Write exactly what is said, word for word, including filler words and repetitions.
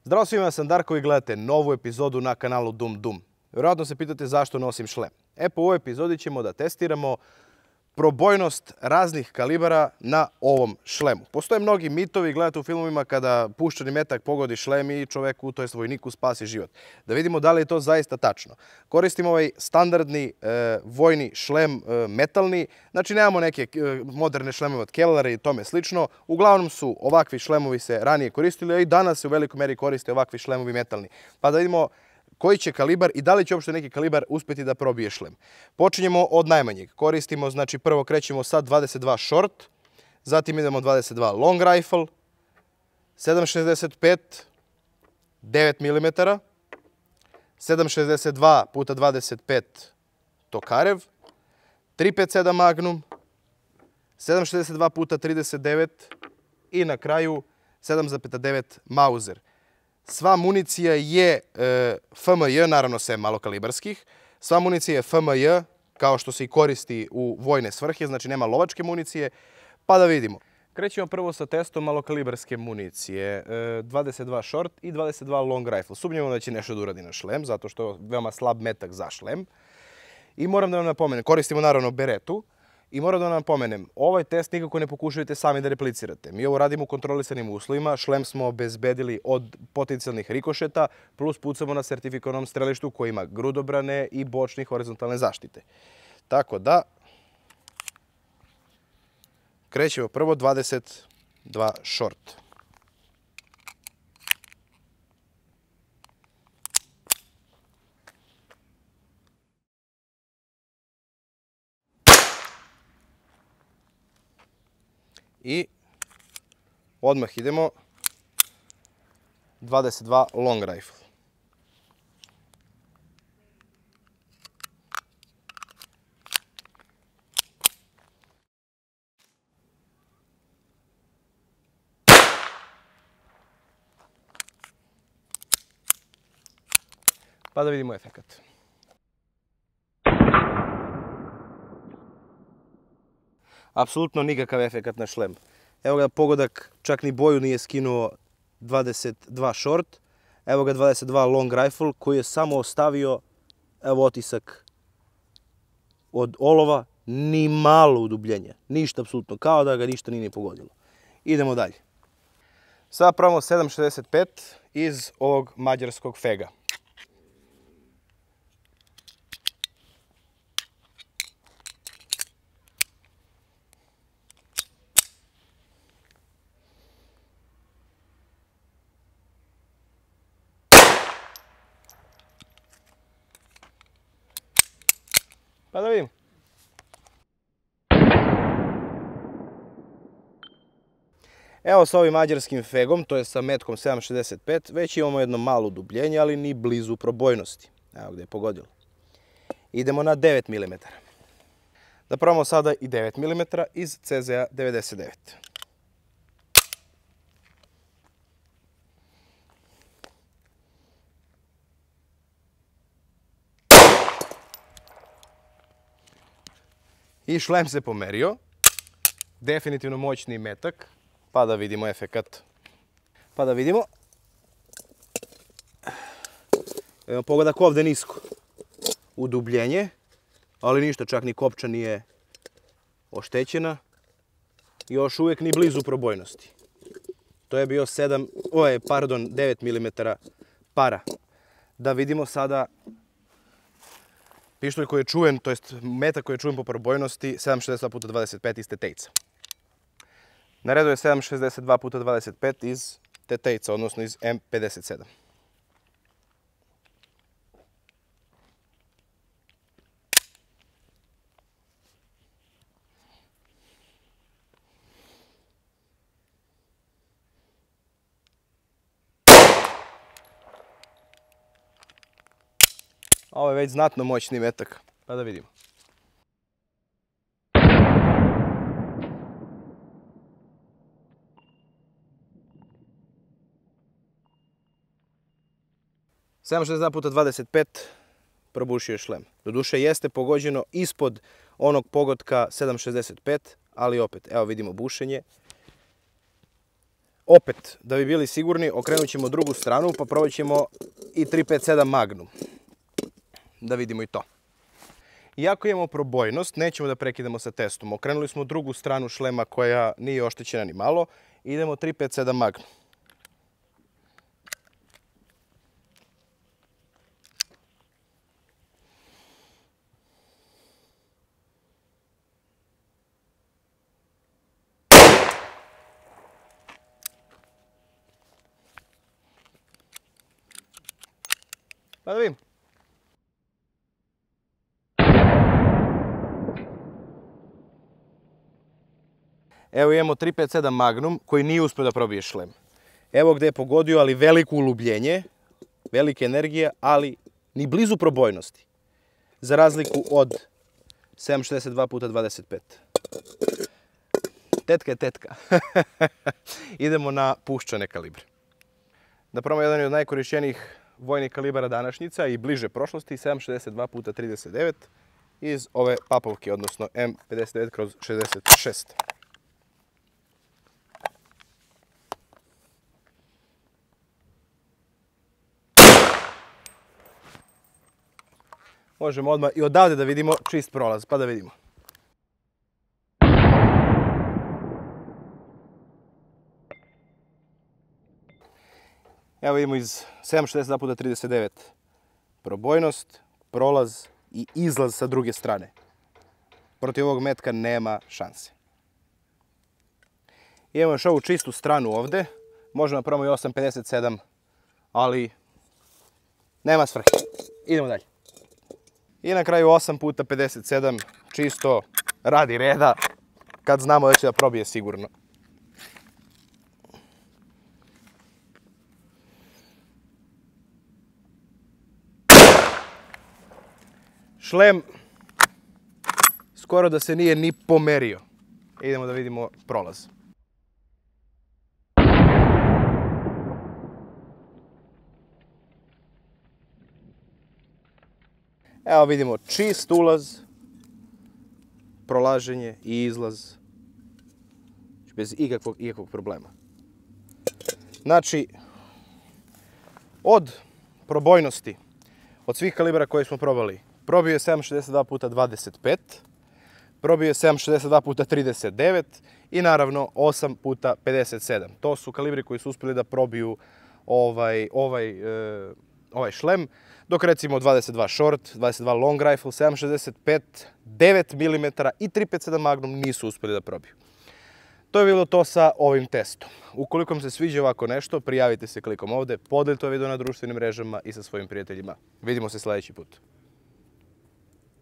Zdravo svima, ja sam Darko i gledate novu epizodu na kanalu Dum Dum. Vjerojatno se pitate zašto nosim šlem. E, po ovoj epizodi ćemo da testiramo probojnost raznih kalibara na ovom šlemu. Postoje mnogi mitovi, gledate u filmovima kada puščani metak pogodi šlem i čoveku, to jest vojniku, spasi život. Da vidimo da li je to zaista tačno. Koristimo ovaj standardni e, vojni šlem, e, metalni. Znači nemamo neke e, moderne šlemove od Kellera i tome slično. Uglavnom su ovakvi šlemovi se ranije koristili, a i danas se u velikoj meri koriste ovakvi šlemovi metalni. Pa da vidimo koji će kalibar i da li će uopšte neki kalibar uspjeti da probije šlem. Počinjemo od najmanjeg. Koristimo, znači prvo krećemo sa dvadeset dva short, zatim idemo dvadeset dva long rifle, sedam šezdeset pet, devet milimetara, sedam šezdeset dva puta dvadeset pet Tokarev, tri pedeset sedam Magnum, sedam šezdeset dva puta trideset devet i na kraju sedam zarez devet Mauser. Sva municija je e, F M J, naravno sem malokalibarskih. Sva municija je F M J, kao što se i koristi u vojne svrhe, znači nema lovačke municije. Pa da vidimo. Krećemo prvo sa testom malokalibarske municije. E, dvadeset dva short i dvadeset dva long rifle. Sumnjamo da će nešto da uradi na šlem, zato što je veoma slab metak za šlem. I moram da vam napomenem, koristimo naravno beretu. I moram da vam napomenem, ovaj test nikako ne pokušajte sami da replicirate. Mi ovo radimo u kontrolisanim uslovima, šlem smo obezbedili od potencijalnih rikošeta, plus pucamo na sertifikovanom strelištu koji ima grudobrane i bočne horizontalne zaštite. Tako da, krećemo prvo dvadeset dva short. I odmah idemo dvadeset dva long rifle. Pa da vidimo efekat. Apsolutno nikakav efekat na šlem. Evo ga pogodak, čak ni boju nije skinuo dvadeset dva short. Evo ga dvadeset dva long rifle koji je samo ostavio, evo otisak od olova, ni malo udubljenja. Ništa apsolutno, kao da ga ništa nije ni pogodilo. Idemo dalje. Sada pravimo sedam šezdeset pet iz ovog mađarskog fega. Pa da vidim. Evo sa ovim mađarskim fegom, to je sa metkom sedam šezdeset pet, već imamo jedno malo udubljenje, ali ni blizu probojnosti. Evo gdje je pogodilo. Idemo na devet milimetara. Da probamo sada i devet milimetara iz C Z A devedeset devet. I šlem se pomerio, definitivno moćni metak, pa da vidimo efekat. Pa da vidimo. Evo pogodak ovdje nisko. Udubljenje, ali ništa, čak ni kopča nije oštećena. Još uvijek ni blizu probojnosti. To je bio sedam, ovaj, pardon, devet milimetara para. Da vidimo sada pištolj koji je čuven, to jest metak koji je čuven po probojnosti, sedam šezdeset dva puta dvadeset pet iz Tetejca. Na redu je sedam šezdeset dva puta dvadeset pet iz Tetejca, odnosno iz M pedeset sedam. Ovo je već znatno moćni metak, pa da vidimo. sedam šezdeset dva puta dvadeset pet probušio je šlem. Doduše jeste pogođeno ispod onog pogotka sedam šezdeset pet, ali opet, evo vidimo bušenje. Opet, da bi bili sigurni, okrenut ćemo drugu stranu pa probat ćemo i tri pet sedam Magnum. Da vidimo i to. Iako imamo probojnost, nećemo da prekidamo sa testom. Okrenuli smo drugu stranu šlema koja nije oštećena ni malo. Idemo tri pet sedam Magnum. Pa da vidim. Evo imamo tri pet sedam Magnum koji nije uspio da probije šlem. Evo gdje je pogodio, ali veliko ulubljenje, velike energije, ali ni blizu probojnosti. Za razliku od sedam šezdeset dva puta dvadeset pet. Tetka je tetka. Idemo na puščane kalibre. Da probamo jedan od najkorišćenijih vojnih kalibara današnjica i bliže prošlosti, sedam šezdeset dva puta trideset devet iz ove papovke, odnosno M pedeset devet kroz šezdeset šest. Možemo odmah i odavde da vidimo čist prolaz, pa da vidimo. Evo vidimo iz sedam šezdeset dva puta trideset devet probojnost, prolaz i izlaz sa druge strane. Protiv ovog metka nema šanse. Imamo još ovu čistu stranu ovdje. Možemo napravimo i osam pedeset sedam, ali nema svrhe. Idemo dalje. I na kraju osam puta pedeset sedam, čisto radi reda, kad znamo da će da probije sigurno. Šlem skoro da se nije ni pomerio. Idemo da vidimo prolaz. Evo vidimo čist ulaz, prolaženje i izlaz bez ikakvog, ikakvog problema. Znači, od probojnosti, od svih kalibara koje smo probali, probio je sedam šezdeset dva puta dvadeset pet, probio je sedam šezdeset dva puta trideset devet i naravno osam puta pedeset sedam. To su kalibri koji su uspjeli da probiju ovaj, ovaj, e, ovaj šlem, dok recimo dvadeset dva short, dvadeset dva long rifle, sedam šezdeset pet, devet milimetara i tri pet sedam Magnum nisu uspjeli da probiju. To je bilo to sa ovim testom. Ukoliko vam se sviđa ovako nešto, prijavite se klikom ovdje, podelite ovaj video na društvenim mrežama i sa svojim prijateljima. Vidimo se sljedeći put.